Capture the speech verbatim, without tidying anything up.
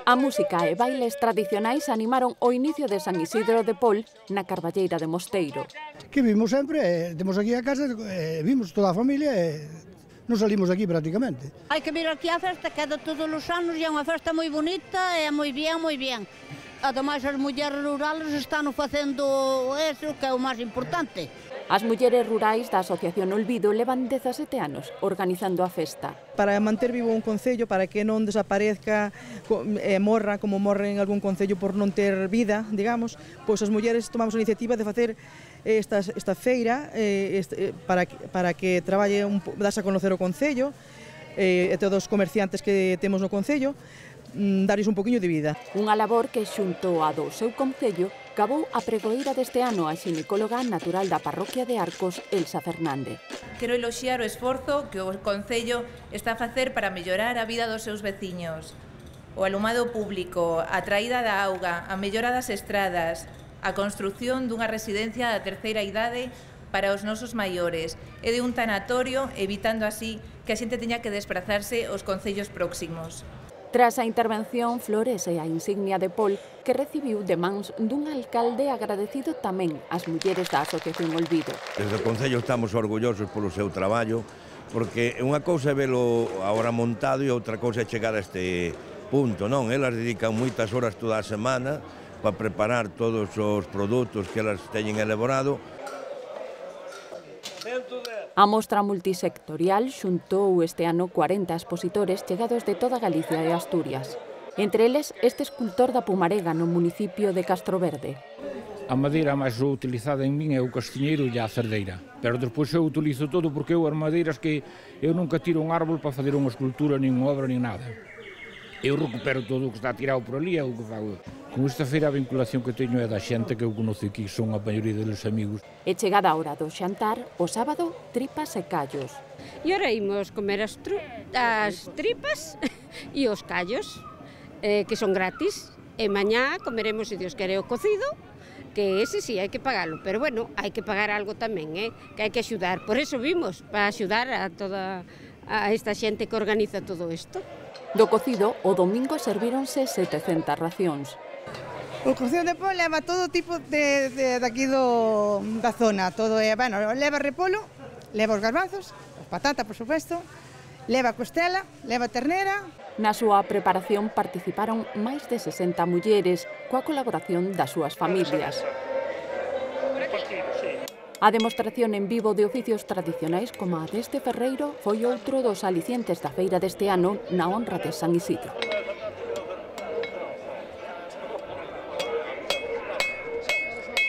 A música e bailes tradicionais animaron o inicio de San Isidro de Pol na Carballeira de Mosteiro. Que vimos sempre, eh, temos aquí a casa, eh, vimos toda a familia e non salimos aquí prácticamente. Hai que vir aquí á festa, que é de todos os anos e é unha festa moi bonita e moi bien, moi bien. Ademais, as mulleres rurales están facendo eso, que é o máis importante. As mulleres rurais da Asociación Olvido levan dezasete anos organizando a festa. Para manter vivo un concello, para que non desaparezca e morra como morre en algún concello por non ter vida, digamos, pois as mulleres tomamos a iniciativa de facer esta, esta feira eh, este, para, para que traballe, un, dase a conocer o concello eh, e todos os comerciantes que temos no concello, darles un poquinho de vida. Unha labor que xunto a do seu concello acabou a pregoeira deste ano a xinecóloga natural da parroquia de Arcos, Elsa Fernández. Quero eloxiar o esforzo que o Concello está a facer para mellorar a vida dos seus veciños. O alumado público, a traída da auga, a mellora das estradas, a construción dunha residencia da terceira idade para os nosos maiores e de un tanatorio, evitando así que a xente teña que desplazarse aos concellos próximos. Tras a intervención, flores e a insignia de Pol que recibiu de mans dun alcalde agradecido tamén ás mulleres da Asociación Olvido. Desde o Concello estamos orgullosos polo seu traballo, porque unha cousa é velo agora montado e outra cousa é chegar a este punto, non? Elas dedican moitas horas toda a semana para preparar todos os produtos que elas teñen elaborado. A mostra multisectorial xuntou este ano cuarenta expositores chegados de toda Galicia e Asturias. Entre eles, este escultor da Pumarega no municipio de Castroverde. A madeira máis utilizada en min é o castiñeiro e a cerdeira. Pero despois eu utilizo todo porque eu as madeiras que eu nunca tiro un árbol para fazer unha escultura, nin unha obra, nin nada. Eu recupero todo o que está tirado por ali, é o que fago. Con esta feira a vinculación que teño é da xente que eu conoce aquí, son a maioría dos amigos. E chegada a hora do xantar, o sábado, tripas e callos. E ora imos comer as, as tripas e os callos, eh, que son gratis. E mañá comeremos, se Dios quere, o cocido, que ese sí hai que pagalo, pero bueno, hai que pagar algo tamén, eh, que hai que axudar. Por eso vimos, para axudar a toda a esta xente que organiza todo isto. Do cocido, o domingo servíronse setecentas racións. O cocido de Pol leva todo tipo de, de, de aquí do, da zona, todo é, bueno, leva repolo, leva os garbanzos, os patata, por supuesto, leva costela, leva ternera. Na súa preparación participaron máis de sesenta mulleres coa colaboración das súas familias. A demostración en vivo de oficios tradicionais como a deste ferreiro foi outro dos alicientes da feira deste ano na honra de San Isidro.